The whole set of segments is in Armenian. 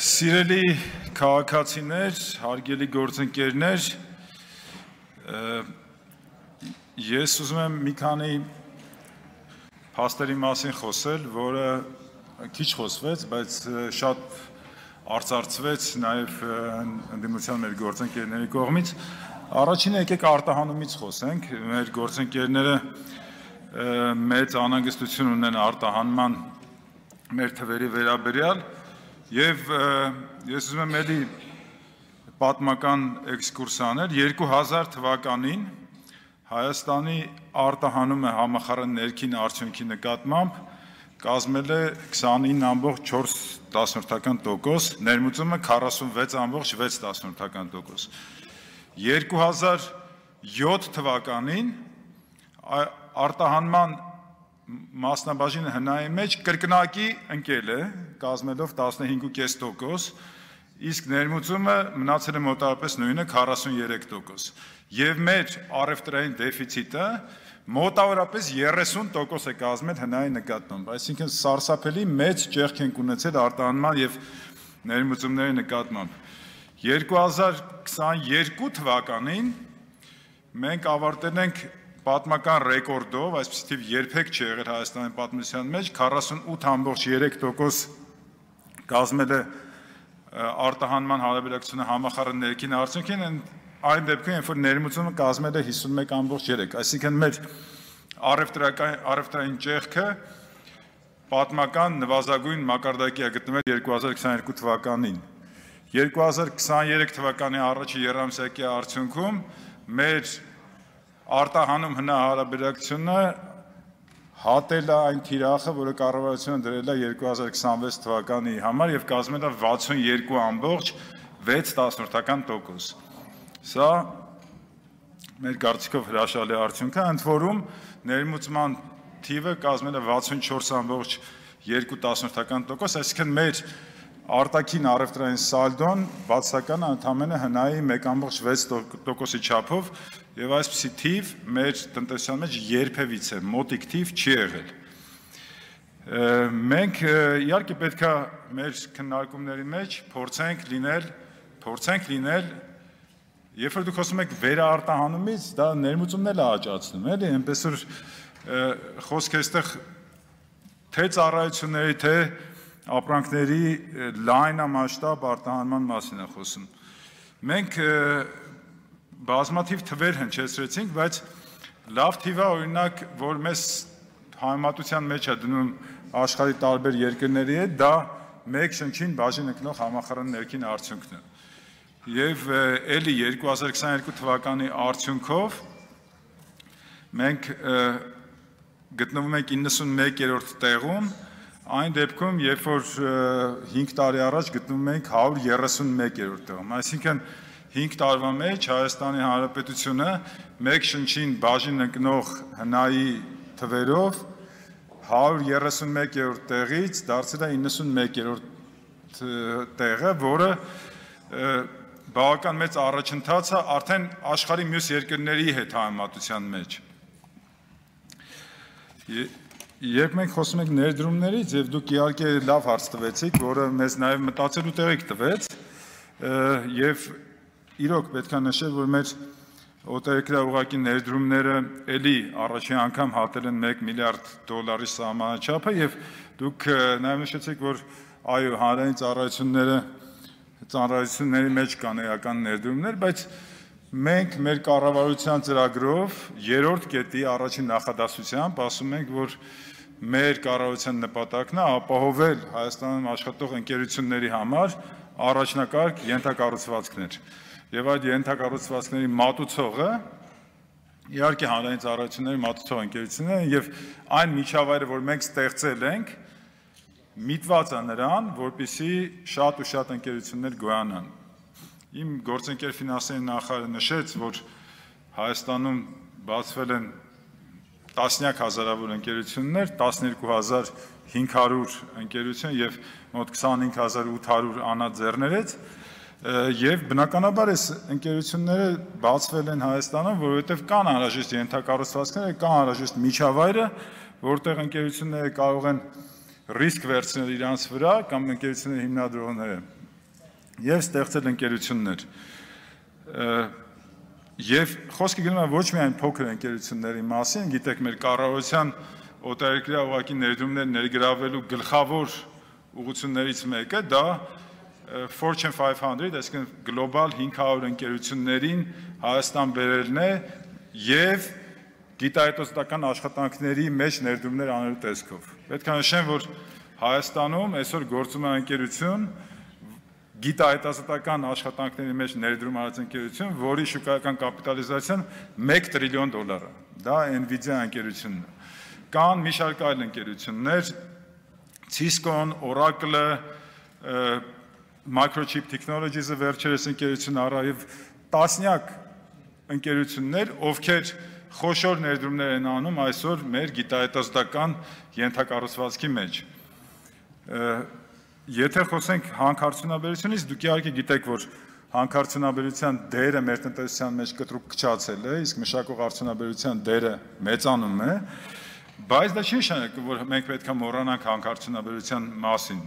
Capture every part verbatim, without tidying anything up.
Սիրելի քաղաքացիներ, հարգելի գործընկերներ, ես ուզում եմ մի քանի փաստերի մասին խոսել, որը քիչ խոսվեց, բայց շատ արծարծվեց նաև ընդդիմության մեր գործընկերների կողմից։ Առաջինը եկեք արտահանումից խոսենք, մեր գործընկերները մեծ անհանգստություն ունեն արտահանման մեր թվերի վերաբերյալ, եւ ես ուզում եմ էլի պատմական էքսկուրս անել երկու հազար թվականին Հայաստանի արտահանումը համախառն ներքին արդյունքի նկատմամբ կազմել է քսանինը ամբողջ չորս տոկոս, ներմուծումը քառասունվեց ամբողջ վեց տոկոս։ երկու հազար յոթ թվականին արտահանման մասնաբաժինը հնայի մեջ կրկնակի ընկել է, կազմելով տասնհինգ կես տոկոս, իսկ ներմուծումը մնացել է մոտավորապես նույնը քառասուններեք տոկոս։ Եվ մեր առևտրային դեֆիցիտը մոտավորապես երեսուն տոկոս է կազմել հնայի նկատմամբ, այսինքն սարսափելի մեծ ճեղք ենք ունեցել արտահանման եւ ներմուծումների նկատմամբ։ երկու հազար քսաներկու թվականին մենք ավարտել ենք պատմական ռեկորդով, այսպիսի թիվ երբեք չի եղել Հայաստանի պատմության մեջ, քառասունութ ամբողջ երեք տոկոս կազմել է արտահանման հարաբերակցությունը համախառն ներքին արդյունքին, այն դեպքում, երբ որ ներմուծումը կազմել է հիսունմեկ ամբողջ երեք, այսինքն մեր առևտրային ճեղքը պատմական նվազագույն մակարդակի է գտնվել երկու հազար քսաներկու թվականին։ երկու հազար քսաներեք թվականի առաջի եռամսյակի արդյունքում մեր արտահանում հնա հարաբերակցությունը հատել է այն թիրախը, որը կառավարությունը դրել է երկու հազար քսանվեց թվականի համար եւ կազմել է վաթսունյոթ ամբողջ վեց տոկոս։ Սա մեր կարծիքով հրաշալի արդյունք է, ընդ որում ներմուծման թիվը կազմել է վաթսունչորս ամբողջ երկու տոկոս, այսինքն մեր արտաքին առևտրային սալդոն բացականը ընդամենը հնայի մեկ ամբողջ վեց տոկոսի չափով եւ այսպիսի թիվ մեր տնտեսության մեջ երբևիցե մոտիկ թիվ չի եղել։ Մենք իհարկե պետք է մեր քննարկումների մեջ փորձենք լինել, փորձենք լինել, երբ որ դուք խոսում եք վերարտահանումից, դա ներմուծումն էլ է աճացնում, էլի, այնպես որ խոսքը այստեղ թե ծառայությունների, թե ապրանքների լայնամասշտաբ արտահանման մասին է խոսում։ Մենք բազմաթիվ թվեր հնչեցրեցինք, բայց լավ թիվ է, օրինակ, որ մեզ համեմատության մեջ է դնում աշխարհի տարբեր երկրների հետ, դա մեկ շնչին բաժին ընկնող համախառն ներքին արդյունքն է։ Եվ էլի երկու հազար քսաներկու թվականի արդյունքով մենք գտնվում ենք իննսունմեկերորդ տեղում, այն դեպքում, երբ որ հինգ տարի առաջ գտնվում ենք հարյուր երեսունմեկերորդ տեղում, այսինքն հինգ տարվա մեջ Հայաստանի Հանրապետությունը մեկ շնչին բաժին ընկնող հնայի թվերով հարյուր երեսունմեկերորդ տեղից դարձել է իննսունմեկերորդ տեղը, որը բավական մեծ առաջընթաց է արդեն աշխարհի մյուս երկրների հետ համեմատության մեջ։ Երբ մենք խոսում ենք ներդրումներից, եւ դուք իհարկե լավ հարց տվեցիք, որը մեզ նաեւ մտածելու տեղիք տվեց, եւ իրոք պետք է նշել, որ մեր օտարերկրաուղղակի ներդրումները էլի առաջին անգամ հատել են մեկ միլիարդ դոլարի սահմանաչափը, եւ դուք նաեւ նշեցիք, որ այո, հանրային ծառայությունները ծառայությունների մեջ կան էական ներդրումներ, բայց մենք մեր կառավարության ծրագրով երրորդ կետի առաջին նախադասությամբ ասում ենք, որ մեր կառավարության նպատակն է ապահովել Հայաստանում աշխատող ընկերությունների համար առաջնակարգ ենթակառուցվածքներ։ Եվ այդ ենթակառուցվածքների մատուցողը իհարկե հանրային ծառայությունների մատուցող ընկերություններն են եւ այն միջավայրը, որ մենք ստեղծել ենք, միտված է նրան, որպեսզի շատ ու շատ ընկերություններ գոյանան։ Իմ գործընկեր ֆինանսների նախարարը նշեց, որ Հայաստանում բացվել են տասնյակ հազարավոր ընկերություններ, տասներկու հազար հինգ հարյուր ընկերություն եւ մոտ քսանհինգ հազար ութ հարյուր անաձեռներեց, եւ բնականաբար այս ընկերությունները բացվել են Հայաստանում, որովհետեւ կան անհրաժեշտ ենթակառուցվածքները, կան անհրաժեշտ միջավայրը, որտեղ ընկերությունները կարող են ռիսկ վերցնել իրանց վրա կամ ընկերությունների հիմնադրողները եւ ստեղծել ընկերություններ։ Եվ խոսքը գնում է ոչ միայն փոքր ընկերությունների մասին, գիտեք, մեր կառավարության օտարերկրյա ուղղակի ներդրումներ ներգրավելու գլխավոր ուղղություններից մեկը դա Fortune five hundred, այսինքն գլոբալ հինգ հարյուր ընկերություններին Հայաստան բերելն է եւ գիտահետազոտական աշխատանքների մեջ ներդրումներ անելու տեսքով։ Պետք է նշեմ, որ Հայաստանում այսօր գործում է ընկերություն, գիտահետազոտական աշխատանքների մեջ ներդրում արած ընկերություն, որի շուկայական կապիտալիզացիան մեկ տրիլիոն դոլար է։ Դա Nvidia ընկերությունն է։ Կան մի շարք այլ ընկերություններ, Cisco-ն, Oracle-ը, Microchip Technologies-ը վերջերս ընկերություն առա եւ տասնյակ ընկերություններ, ովքեր խոշոր ներդրումներ են անում այսօր մեր գիտահետազոտական ենթակառուցվածքի մեջ։ Եթե խոսենք հանքարդյունաբերությունից, դուք իհարկե գիտեք, որ հանքարդյունաբերության դերը մեր տնտեսության մեջ կտրուկ քչացել է, իսկ մշակող արդյունաբերության դերը մեծանում է, բայց դա չի նշանակում, որ մենք պետք է մոռանանք հանքարդյունաբերության մասին։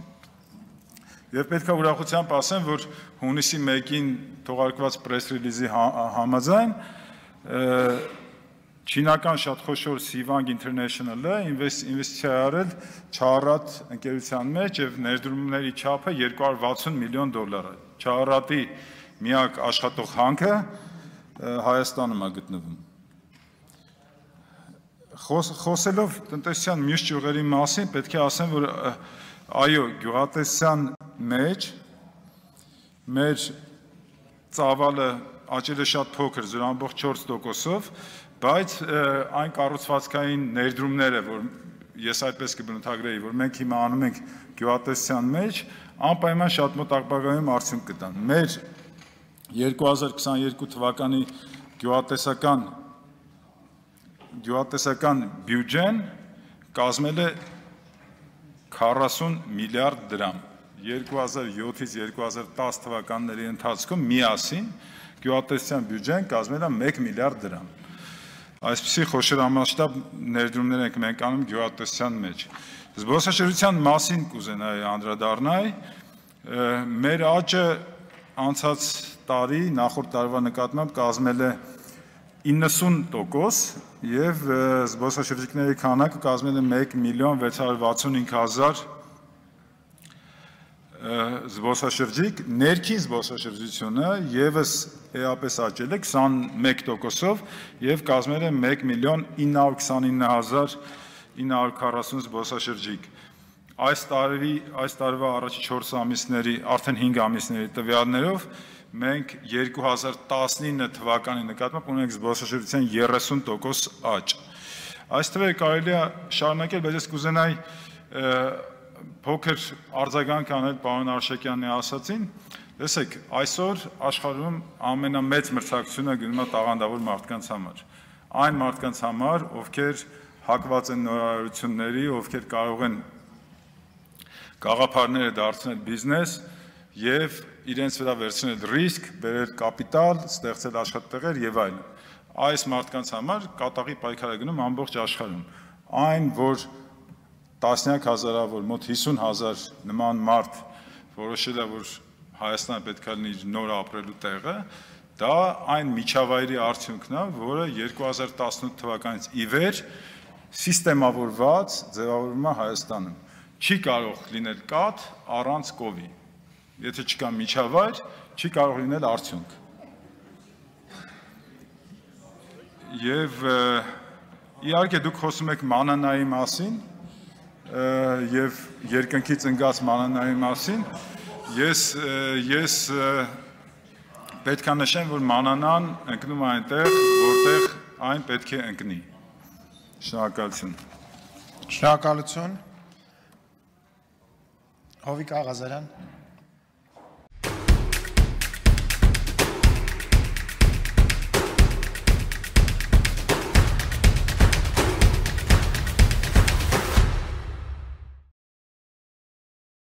Եվ պետք է ուրախությամբ ասեմ, որ հունիսի մեկին թողարկված press release-ի համաձայն չինական շատ խոշոր Sivang International-ը ինվեստիցիա արել Չարատ ընկերության մեջ եւ ներդրումների չափը երկու հարյուր վաթսուն միլիոն դոլար է։ Չարատի միակ աշխատող հանքը Հայաստանում է գտնվում։ Խոսելով տնտեսության մյուս ճյուղերի մասին, պետք է ասեմ, որ այո, գյուղատնտեսության մեջ մեր ծավալը աճել է շատ փոքր, զուտ ամբողջ չորս տոկոսով, բայց այն կառուցվածքային ներդրումները, որ ես այդպես կբնութագրեի, որ մենք հիմա անում ենք գյուղատնտեսության մեջ, անպայման շատ մոտ ապագայում արդյունք կտան։ Մեր երկու հազար քսաներկու թվականի գյուղատնտեսական գյուղատնտեսական բյուջեն կազմել է քառասուն միլիարդ դրամ։ երկու հազար յոթից երկու հազար տաս թվականների ընթացքում միասին գյուղատնտեսության բյուջեն կազմել է մեկ միլիարդ դրամ։ Այսպիսի խոշորամասշտաբ ներդրումներ ենք մենք անում գյուղատնտեսության մեջ։ Զբոսաշրջության մասին կուզենայի անդրադառնալ, մեր աճը անցած տարի նախորդ տարվա նկատմամբ կազմել է իննսուն տոկոս եւ զբոսաշրջիկների քանակը կազմել է մեկ միլիոն վեց հարյուր վաթսունհինգ հազար զբոսաշրջիկ, ներքին զբոսաշրջությունը եւս էապես աճել է քսանմեկ տոկոսով եւ կազմել է մեկ միլիոն ինը հարյուր քսանինը հազար ինը հարյուր քառասուն զբոսաշրջիկ։ Այս տարի, այս տարվա առաջի չորս ամիսների, արդեն հինգ ամիսների տվյալներով մենք երկու հազար տասնինը թվականի նկատմամբ ունենք զբոսաշրջության երեսուն տոկոս աճ։ Այս թվերը կարելի է շարունակել, բայց ես կուզենայի փոքր արձագանք անել պարոն Արշակյանի ասացին։ Տեսեք, այսօր աշխարհում ամենամեծ մրցակցությունը գնում է տաղանդավոր մարդկանց համար։ Այն մարդկանց համար, ովքեր հակված են նորարարությունների, ովքեր կարող են գաղափարները դարձնել բիզնես եւ իրենց վրա վերցնել ռիսկ, բերել կապիտալ, ստեղծել աշխատատեղեր եւ այլն։ Այս մարդկանց համար կատաղի պայքար է գնում ամբողջ աշխարհում։ Այն, որ տասնյակ հազարավոր, մոտ հիսուն հազար նման մարդ որոշել է, որ Հայաստանը պետք է լինի իր նոր ապրելու տեղը, դա այն միջավայրի արդյունքն է, որը երկու հազար տասնութ թվականից ի վեր սիստեմավորված ձևավորվում է Հայաստանում։ Չի կարող լինել կաթ առանց կովի։ Եթե չկա միջավայր, չի կարող լինել արդյունք։ Եվ իհարկե դուք խոսում եք մանանայի մասին եւ երկնքից ընկած մանանայի մասին, ես ես պետք է նշեմ, որ մանանան ընկնում է այնտեղ, որտեղ այն պետք է ընկնի։ Շնորհակալություն։ Շնորհակալություն։ Հովիկ Աղազարյան։